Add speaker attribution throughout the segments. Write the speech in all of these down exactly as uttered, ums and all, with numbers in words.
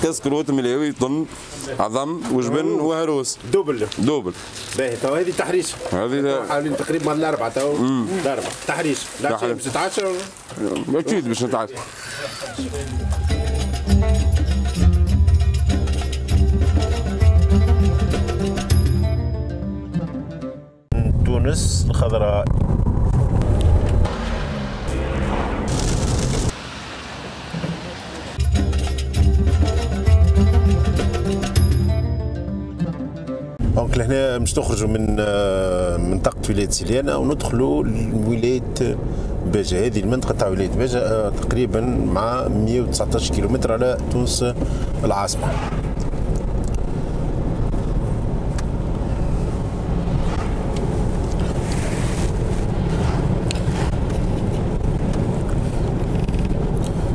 Speaker 1: كسكروت ملاوي طن عظم وجبن وهروس.
Speaker 2: double
Speaker 1: double.
Speaker 2: باهي تو هذه تحريش.
Speaker 1: هذه
Speaker 2: حوالي تقريبا الاربعة تو الاربعة تحريش. لا باش تتعشى
Speaker 1: اكيد باش نتعشى.
Speaker 2: تونس الخضراء. donc لهنا باش نخرجوا من منطقة ولاية سليانة وندخلوا لولاية باجة. هذه المنطقة تاع ولاية باجة تقريبا مع مئة وتسعطاش كيلومتر على تونس العاصمة.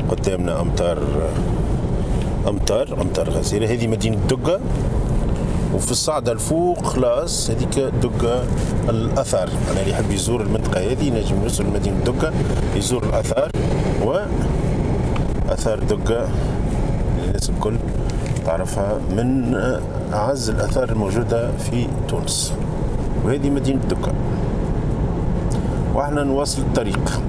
Speaker 2: قدامنا امطار امطار امطار غزيرة. هذه مدينة دقة، وفي الصعدة الفوق خلاص هذيك دقة الأثار. أنا اللي يحب يزور المنطقة هذه ينجم يوصل لمدينة دقة يزور الآثار، وآثار دقة الناس الكل تعرفها من أعز الآثار الموجودة في تونس، وهذه مدينة دقة. وإحنا نواصل الطريق.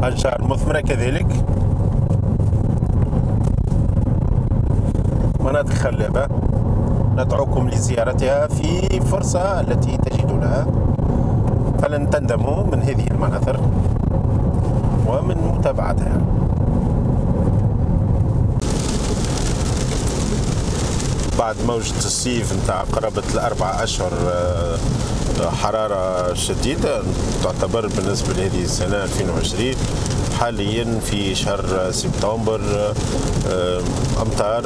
Speaker 2: أشجار مثمرة كذلك، مناطق خلابة ندعوكم لزيارتها في فرصة التي تجدونها، فلن تندموا من هذه المناظر ومن متابعتها. بعد موجة الصيف نتاع قرابة الأربع أشهر حرارة شديدة تعتبر بالنسبة لهذه السنة ألفين وعشرين، حاليا في شهر سبتمبر أمطار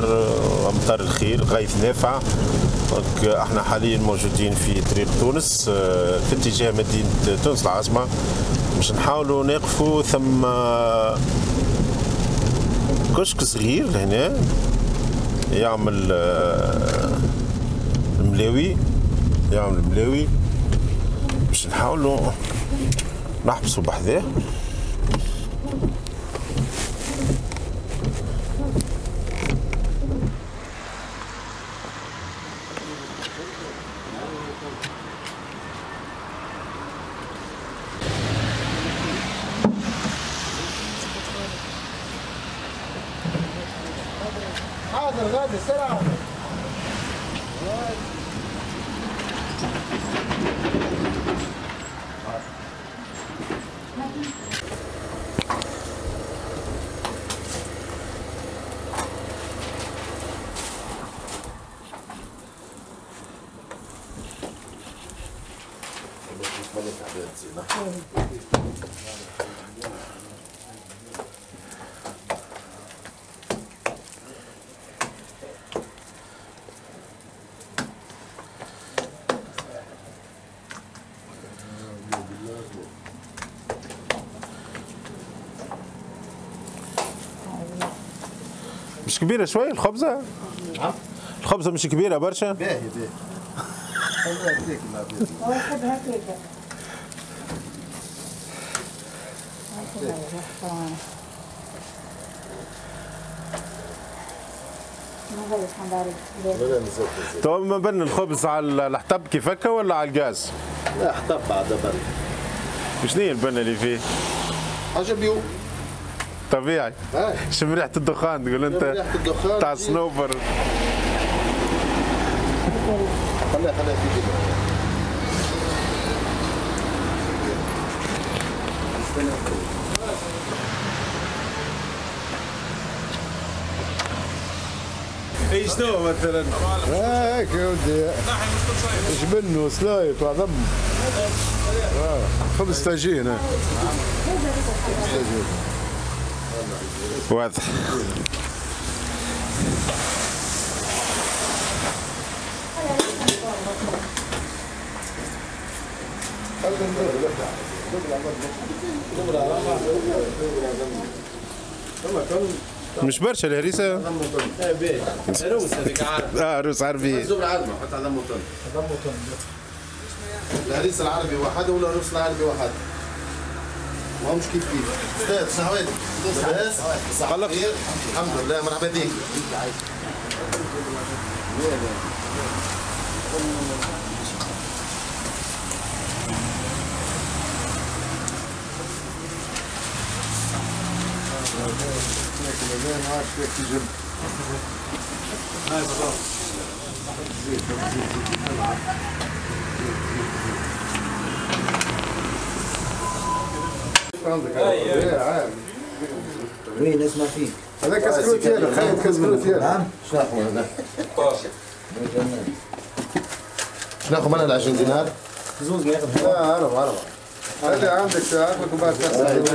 Speaker 2: أمطار الخير، غيث نافع. احنا حاليا موجودين في طريق تونس في اتجاه مدينة تونس العاصمة، باش نحاولوا نقفوا ثم كشك صغير هنا يعمل الملاوي، يعمل ملاوي باش نحاولوا نحبسوا بحذاه.
Speaker 3: حاضر غادي سرعة.
Speaker 2: مش كبيرة شوي الخبزة؟
Speaker 3: نعم
Speaker 2: الخبزة مش كبيرة برشا؟
Speaker 3: باهي باهي.
Speaker 4: هو يحب هكاك.
Speaker 2: تو ما بن الخبز على الحطب كيف هكا ولا على الغاز؟
Speaker 3: لا حطب بعد بن.
Speaker 2: شنو هي البنة اللي فيه؟
Speaker 3: حاجة bio
Speaker 2: طبيعي. شم ريحة الدخان تقول انت؟
Speaker 3: ريحة الدخان
Speaker 2: تاع الصنوبر.
Speaker 3: خليها خليها في جبل.
Speaker 2: اي شنو مثلا؟
Speaker 5: هيك يا ولدي جبن وسلايط وعظم. آه. خبز طاجين. خبز طاجين.
Speaker 2: واضح. مش برشا الهريسه؟
Speaker 3: روس هذيك عربي.
Speaker 2: اه روس عربي.
Speaker 3: زبر عظمه، حط عظم وطن. عظم وطن. الهريسه العربي وحده ولا الروس العربي وحده؟ ماهمش كيف كيف. استاذ شنو احوالك؟ لاباس؟ صحة خير؟ الحمد لله مرحبا بك.
Speaker 4: وين نسمع فيك؟
Speaker 5: هذا كسكروتير خايف كسكروتير.
Speaker 4: نعم شنو ناخذ هذا؟
Speaker 3: شنو ناخذ انا عشرين دينار؟
Speaker 4: زوز ما ياخذ.
Speaker 5: لا أربعة أربعة. هذا عندك عقلك وبعد تحسب.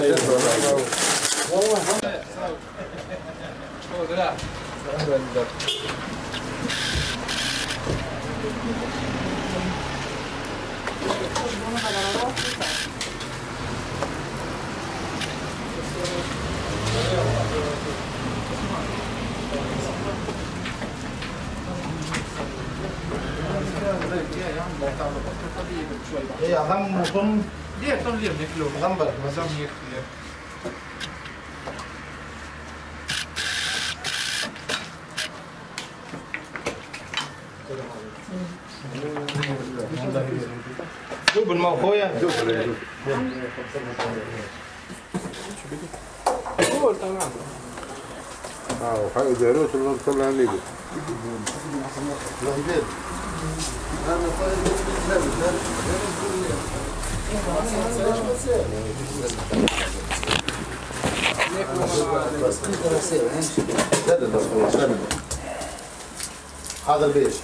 Speaker 3: ايه عظم وطن ليه طن ليه بناكلوه عظم برك ما زعما ياكل. double ما خويا double
Speaker 5: اه وحاجه داروت اللي طلع لي.
Speaker 3: هذا البيش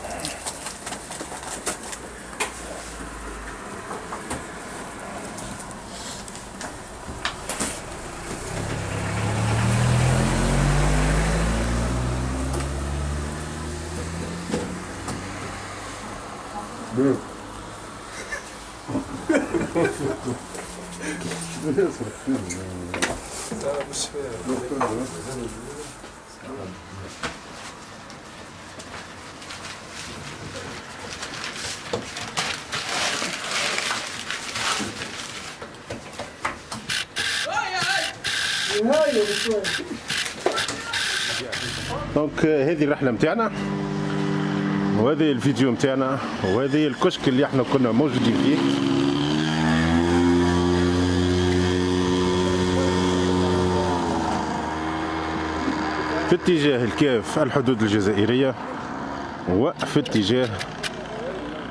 Speaker 2: donc هذه الرحلة نتاعنا وهذه الفيديو نتاعنا وهذه الكشك اللي احنا كنا موجودين فيه. في اتجاه الكاف الحدود الجزائرية وفي اتجاه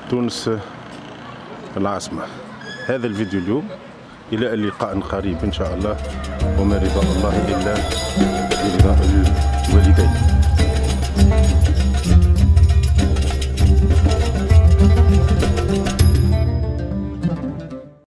Speaker 2: تونس العاصمة. هذا الفيديو اليوم، إلى اللقاء قريب إن شاء الله، وما رضا الله إلا